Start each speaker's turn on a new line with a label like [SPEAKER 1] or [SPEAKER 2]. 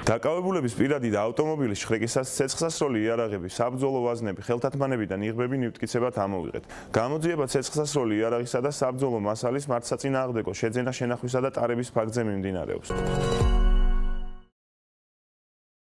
[SPEAKER 1] დაკავებულების პირადი და ავტომობილის შხრიკისას ცეცხლსასროლი იარაღები, საბრძოლო ვაზნები, ხელთათმანები და ნიღბები მივტკიცებად ამოვიღეთ. გამოძიება ცეცხლსასროლი იარაღისა და საბრძოლო მასალის მართსაწინააღმდეგო შეძენა, შენახვისა და ტარების ფაქტზე მიმდინარეობს.